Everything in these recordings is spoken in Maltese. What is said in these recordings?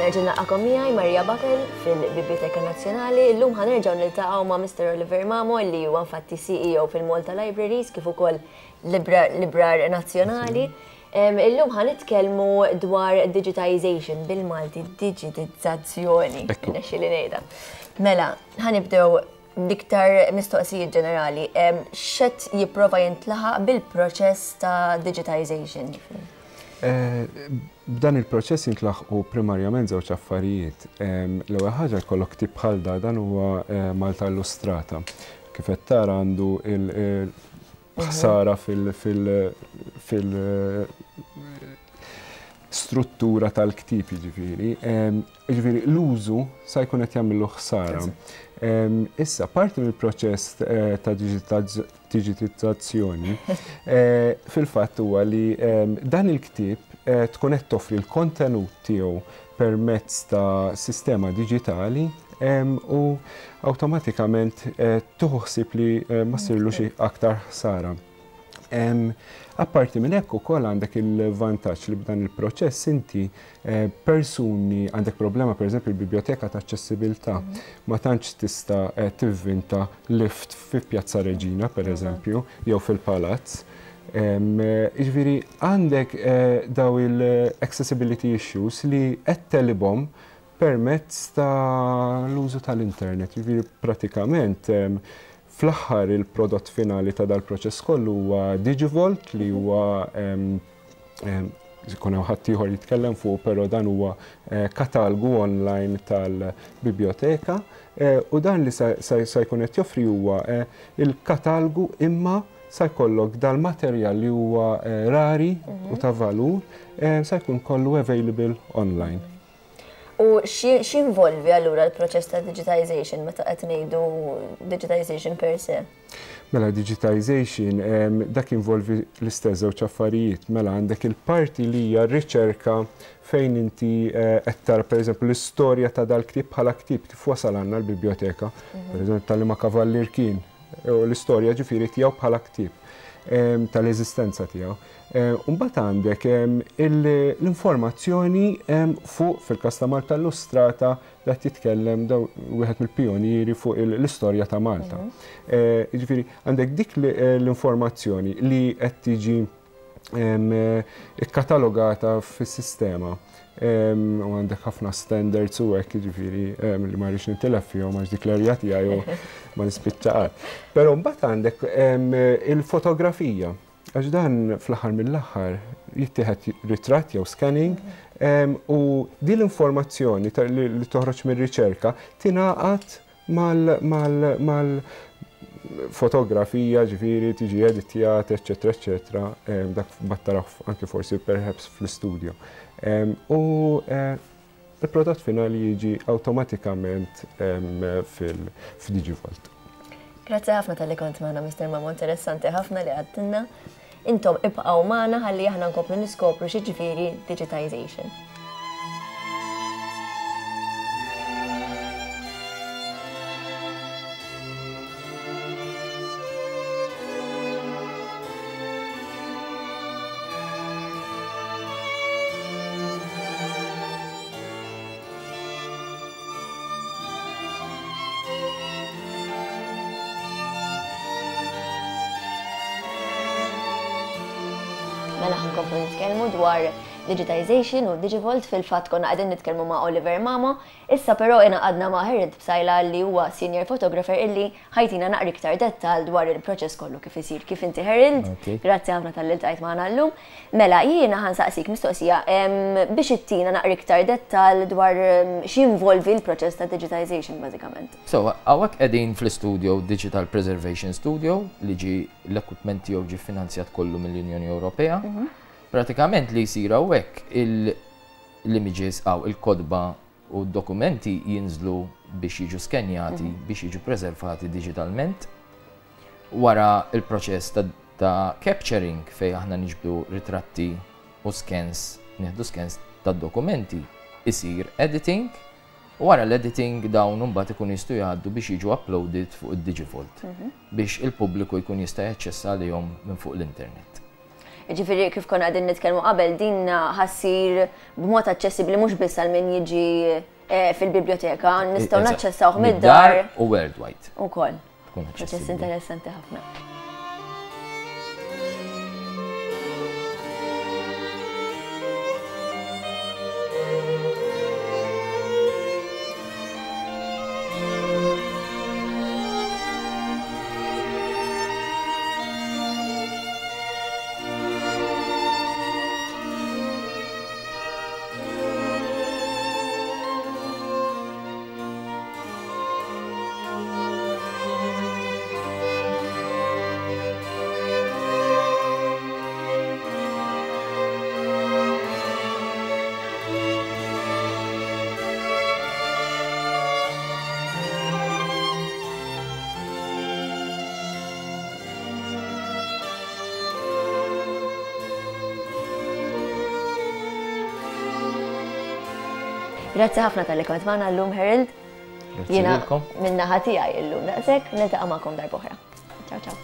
Nerġa' nilqakom miegħi Maria Buckle fil-Biblioteka Nazzjonali. Illum ħa nerġgħu niltaqgħu ma' Mr. Oliver Mamo li huwa infatti CEO fil-Malta Libraries kif ukoll Librar Nazzjonali. Illum ħa nitkellmu dwar digitization bil-Malti, digitizzazzjoni. Nexxi li ngħidha. Mela, ħa nibdew l-iktar mistoqsijiet ġenerali. X'qed jipprova jintlaħaq bil-proċess ta' digitization? B'dan il-proċess jintlaħqu primarjament żewġ affarijiet. L-ewwel ħaġa jkollok ktieb bħal da, dan huwa Malta Illustrata. Kif qed tara għandu il-ħsara fil-struttura tal-ktieb jiġifieri. Jiġifieri l-użu sa jkun qed jagħmillu ħsara. Issa, parti mill-proċess ta' digitizzazzjoni fil-fatt huwa li dan il-ktieb tkun qed toffri l-kontenut tiegħu permezz ta' sistema diġitali u awtomatikament tieħu ħsieb li ma ssirlux aktar ħsara. Apparti minn hekk ukoll għandek il-vantaġġ li b'dan il-proċess inti persuni għandek problema pereżempju l-biblioteka ta' aċċessibilità ma tantx tista' tivvinta lift fi Pjazza Reġina pereżempju jew fil-palazz. Jiġifieri għandek daw il-accessibility issues li qed tegħlibhom permezz ta' l-użu tal-internet. Jiġifieri pratikament fl-aħħar il-prodott finali ta' dal-proċess kollu huwa Digivault li huwa jkun hemm ħadd ieħor jitkellem fuq, però dan huwa katalgu online tal-biblioteka u dan li sa jkun qed joffri huwa il-katalgu imma sa jkollok dal-materjal li huwa rari u ta' valur sa jkun kollu available online. U x'involvi allura l-proċess ta' digitization meta qed ngħidu digitization per se? Mela digitization dak involvi l-istess żewġ affarijiet. Mela għandek il-parti li hija r-riċerka fejn inti qed tara pereżempju l-istorja ta' dal-ktieb bħala ktieb kif wasal għandna l-biblioteka, pereżempju tal-liema kavallier kien, u l-istorja ġifieri tiegħu bħala ktieb tal-eżistenza tiegħu. Mbagħad għandek l-informazzjoni fuq fil-każ ta' Malta Illustrata qed jitkellem daw wieħed mill-pijonieri fuq l-istorja ta' Malta. Jiġifieri għandek dik l-informazzjoni li qed tiġi ikkatalogata fis-sistema. U għandek ħafna standards u hekk jiġifieri li ma rridx nintilef fihom għax dik l-erja tiegħi u ma nispiċċa qatt. Però mbagħad għandek il-fotografija. Għax dan fl-aħħar mill-aħħar jittieħed ritratt jew scanning u din l-informazzjoni li toħroġ mir-riċerka tingħaqad mal-fotografija, ġifieri tiġi editjat, eċċetera, eċċetera, dak mbagħad taraw anke forsi perhaps fl-istudio. U Il-prodott finali jiġi awtomatikament fil-Digivault. Grazzi ħafna talli kont magħna Mr. Mamo, interessanti ħafna li għadtilna. Intom ibqgħu magħna ħalli aħna nkomplu niskopru xi ġifieri digitization. Mela ħankomplu nitkellmu dwar digitization u Digivault fil-fatt konna qegħdin nitkellmu ma' Oliver Mamo. Issa però ingħaqadna ma' Harold Psaila li huwa senior photographer illi ħa jtina naqra iktar dettal dwar il-proċess kollu kif isir. Kif inti Harold? Grazzi ħafna talli ltqajt magħna llum. Mela, jiena ħa nsaqsik mistoqsija biex ittina naqra iktar dettal dwar x'jinvolvi l-proċess ta' digitization bażikament. So, hawnhekk qegħdin fl-istudio Digital Preservation Studio li ġie l-equipment tiegħu ġie finanzjat kollu mill-Unjoni Ewropea. Pratikament li jsir hawnhekk l-images hawn il-kotba u d-dokumenti jinżlu biex jiġu skenjati, biex jiġu preservati diġitalment. Wara il-proċess ta', ta capturing fej aħna niġbdu ritratti u scans, nieħdu scans tad-dokumenti, isir editing. U wara l-editing dawn imbagħad ikunu jistgħu jgħaddu biex jiġu uploaded fuq id-Digivault biex il-pubbliku jkun jista' jaċċessa għalihom minn fuq l-internet. Jiġifieri kif konna qegħdin nitkellmu qabel din ħa ssir b'mod aċċessibbli mhux biss għal min jiġi fil-biblioteka, nistgħu naċċessawh mid-dar. U worldwide. Ukoll. Proċess interessanti ħafna. Grazzi ħafna talli kont magħna llum Harold. Jiena min-naħa tiegħi illum daqshekk niltaqa' magħkom darb'oħra. Ciao ciao.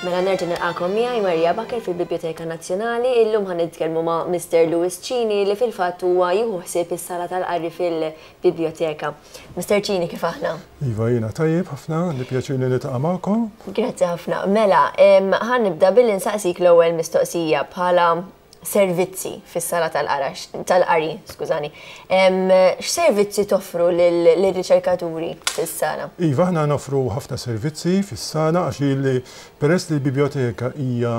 Mela nerġa' nilqakom miegħi Maria Baker fil-Biblioteka Nazzjonali. Illum ħa nitkellmu ma' Mr. Louis Cini li fil-fatt huwa jieħu ħsieb is-sala tal-qari fil-biblioteka. Mr. Cini kif aħna? Iva jiena tajjeb ħafna, għandi pjaċir li niltaqa' magħkom. Grazzi ħafna. Mela, ħa nibda billi nsaqsik l-ewwel mistoqsija bħala servizzi fis-sala tal-qarax, tal-qari, skużani. X'servizzi toffru lir-riċerkaturi fis-sala? Iva, aħna noffru ħafna servizzi fis-sala għax peress li l-bibljoteka hija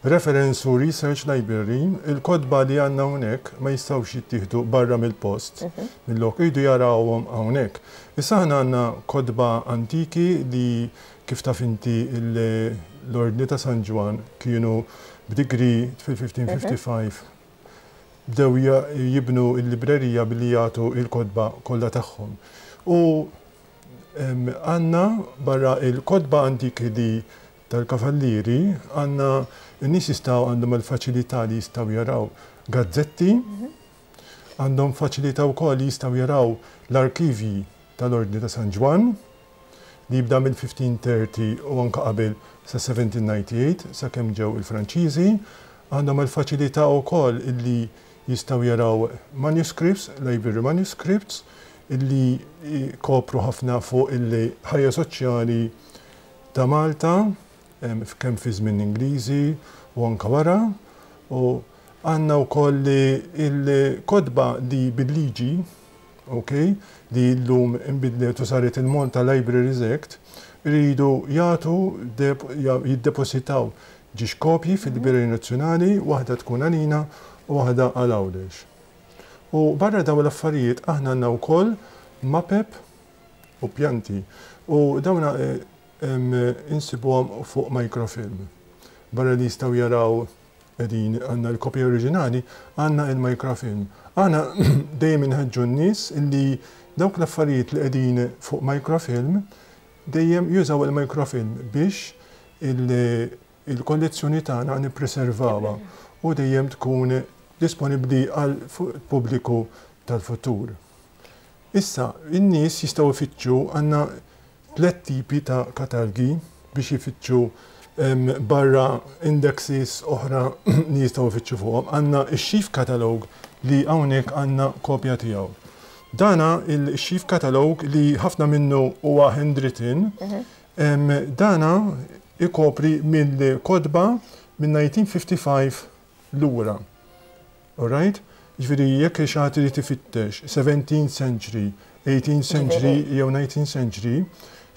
reference u research library, il-kotba li għandna hawnhekk ma jistgħux jittieħdu barra mill-post, mill-lok, iridu jarawhom hawnhekk. Issa aħna għandna kotba antiki li kif taf inti l-Ordni ta' San Ġwann kienu b'degree fil-1555 bdew jibnu l-librerija billi jagħtu l-kotba kollha tagħhom. U għandna barra l-kotba antiki li tal-kavallieri għandna n-nies jistgħu għandhom il-faċilità li jistgħu jaraw gazzetti, għandhom faċilità wkoll li jistgħu jaraw l-arkivji tal-Ordni ta' San Ġwann li jibda mill-1530 u anke qabel sa 1798 sakemm ġew il-Franċiżi. Għandhom il-faċilità wkoll illi jistgħu jaraw manuscripts, library manuscripts, illi jkopru ħafna fuq il-ħajja soċjali ta' Malta kemm fi żmien Ingliżi u anke wara. U għandna wkoll il-kotba li bil-liġi ok, li llum inbidlet u saret il-Malta Libraries Act, iridu jagħtu jiddepositaw ġiex kopji fil-Librerija Nazzjonali, waħda tkun għalina u waħda għal Għawdex. U barra dawn l-affarijiet aħna għandna wkoll mapep u pjanti u dawn insibuhom fuq microfilm. Barra li jistgħu jaraw Qegħdin għandna l-kopja oriġinali, għandna il-microfilm. Aħna dejjem inħeġġu n-nies illi dawk l-affarijiet li qegħdin fuq microfilm dejjem jużaw il-microfilm biex il-kollezzjoni tagħna nippreservawha u dejjem tkun disponibbli għall-pubbliku tal-futur. Issa, in-nies jistgħu jfittxu għandna Tlett tipi ta' katalgi biex jfittxu barra indexes oħra li jistgħu jfittxu fuqhom. Għandna x-Sheaf Catalogue li hawnhekk għandna kopja tiegħu. Dana il-Sheaf Catalogue li ħafna minnu huwa handwritten, dana ikopri mill-kotba minn 1955 lura. Alright? Jiġifieri jekk xi ħadd irid ifittex 17th century, 18th century jew 19th century,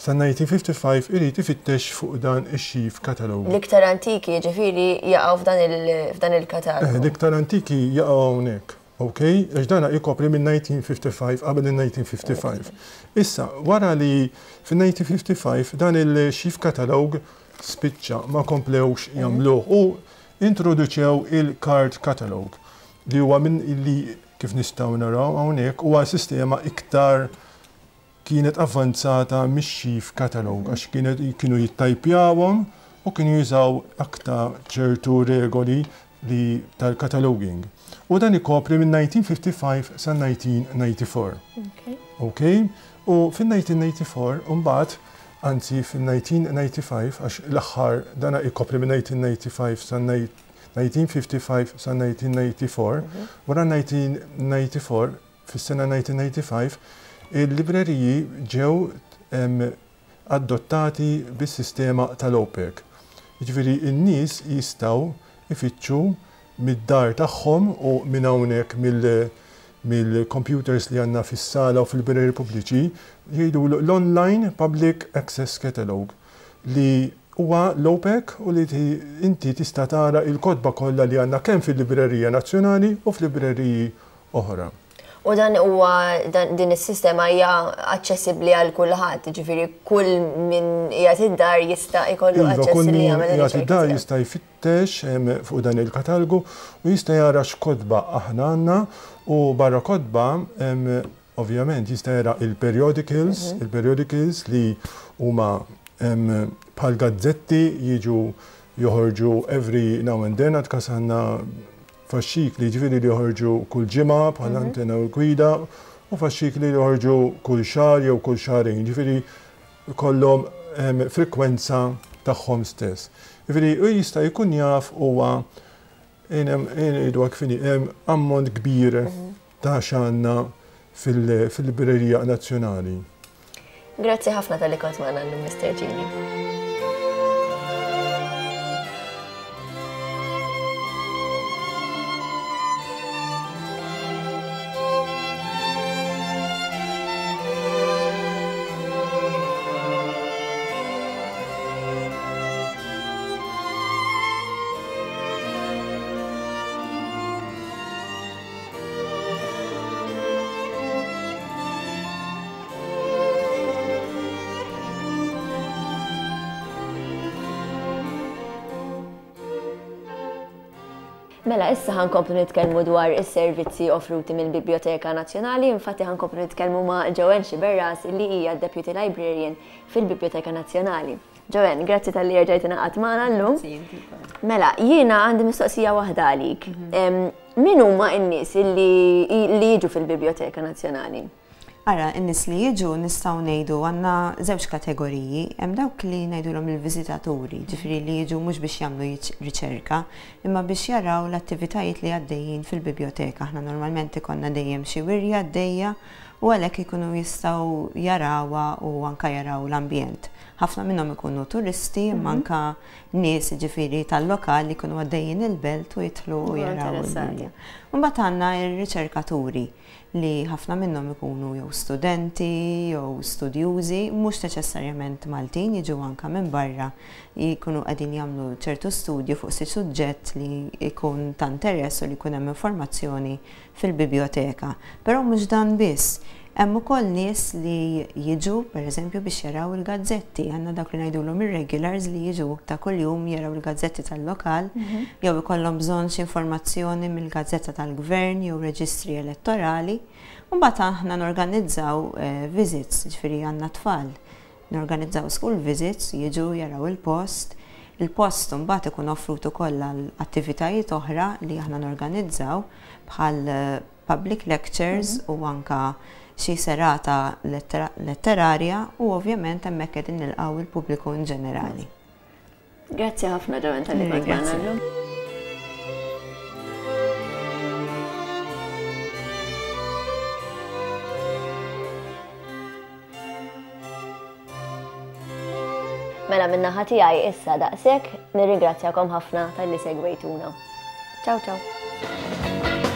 Sa 1955 irid ifittex fuq dan ix-sheaf catalogue. L-iktar antiki jiġifieri jaqgħu f'dan il-katalgu. L-iktar antiki jaqgħu hawnhekk, ok? Għax dan ikopri minn 1955, qabel il-1955. Issa, wara li fin-1955 dan il-sheaf catalogue spiċċa, ma komplewx jagħmluh u introduċew il-card catalogue li huwa minn li kif nistgħu naraw hawnhekk huwa sistema iktar kienet avvanzata mix-sheaf catalogue għax kienet kienu jittajpjawhom u kienu jużaw aktar ċertu regoli li tal-cataloging. U dan ikopri minn 1955 sa 1994. Ok? U fin-1994 mbagħad anzi fin-1995 għax l-aħħar dana ikopri minn 1995 sa 1955 sa 1994, wara 1994 Fis-sena 1995, il-libreriji ġew adottati bis-sistema tal-OPEC. Jiġifieri n-nies jistgħu jfittxu mid-dar tagħhom u minn hawnhekk mill-computers li għandna fis-sala u fil-libreriji pubbliċi, jgħidulu l-Online Public Access Catalogue li huwa l-OPEC u li inti tista' tara l-kotba kollha li għandna kemm fil-Librerija Nazzjonali u f'libreriji oħra. U dan huwa din is-sistema hija aċċessibbli għal kulħadd, jiġifieri kull min qiegħed id-dar jista' jkollu iva, aċċess li jagħmel. Kull min qiegħed id-dar jista' jfittex fuq dan il-katalgu u jista' jara x'kotba aħna għandna u barra kotba ovvjament jista' jara il-periodicals, il-periodicals li huma bħal gazzetti jiġu joħorġu every now and then għad każ għandna Faxxikli jiġifieri li joħorġu kull ġimgħa bħal Antenna u l-Gwida u faxxikli li joħorġu kull xahar jew kull xahrejn, jiġifieri jkollhom frekwenza tagħhom stess. Jiġifieri hu jista' jkun jaf huwa ngħidu hekk fini hemm ammont kbir ta' x'għandna fil-Librerija Nazzjonali. Grazzi ħafna talli kont magħna llum Mr. Gini. Mela, issa ħankomplu nitkellmu dwar is-servizzi offruti mill-Biblioteka Nazzjonali, infatti ħankomplu nitkellmu ma' Joanne Sciberras li hija Deputy Librarian fil-Biblioteka Nazzjonali. Joanne, grazzi talli erġajt ingħaqadt magħna llum. Mela, jiena għandi mistoqsija waħda għalik. Min huma n-nies li jiġu fil-Biblioteka Nazzjonali? Ara, in-nies li jiġu nistgħu ngħidu għandna żewġ kategoriji. Hemm dawk li ngħidulhom il-viżitaturi, ġifieri li jiġu mhux biex jagħmlu riċerka, imma biex jaraw l-attivitajiet li għaddejjin fil-bibljoteka. Aħna normalment ikollna dejjem xi wirja għaddejja u għalhekk ikunu jistgħu jarawha u anke jaraw l-ambjent. Ħafna minnhom ikunu turisti imma anke nies jiġifieri tal-lokal li jkunu għaddejjin il-belt u jidħlu u jaraw il-wirja. Imbagħad għandna r-riċerkaturi li ħafna minnhom ikunu jew studenti jew studjużi, mhux neċessarjament Maltin, jiġu anke minn barra jkunu qegħdin jagħmlu ċertu studju fuq xi suġġett li jkun ta' interess u li jkun hemm informazzjoni fil-bibjoteka. Però mhux dan biss. Hemm ukoll nies li jiġu, pereżempju, biex jaraw il-gazzetti. Għandna dawk li ngħidulhom ir-regulars li jiġu ta' kuljum jaraw il-gazzetti tal-lokal jew ikollhom bżonn xi informazzjoni mill-gazzetta tal-gvern jew reġistri elettorali. U mbagħad aħna norganizzaw visits, jiġifieri għandna tfal. Norganizzaw school visits, jiġu jaraw il-post. Il-post imbagħad ikun offrut ukoll għal attivitajiet oħra li aħna norganizzaw bħal public lectures u anke xi serata letterarja u ovvjament hemmhekk qegħdin nilqgħu il-pubbliku in ġenerali. Grazzi ħafna Joanne talli kont magħna llum. Mela min-naħa tiegħi issa daqshekk, nirringrazzjakom ħafna talli segwejtuna. Ciao ciao.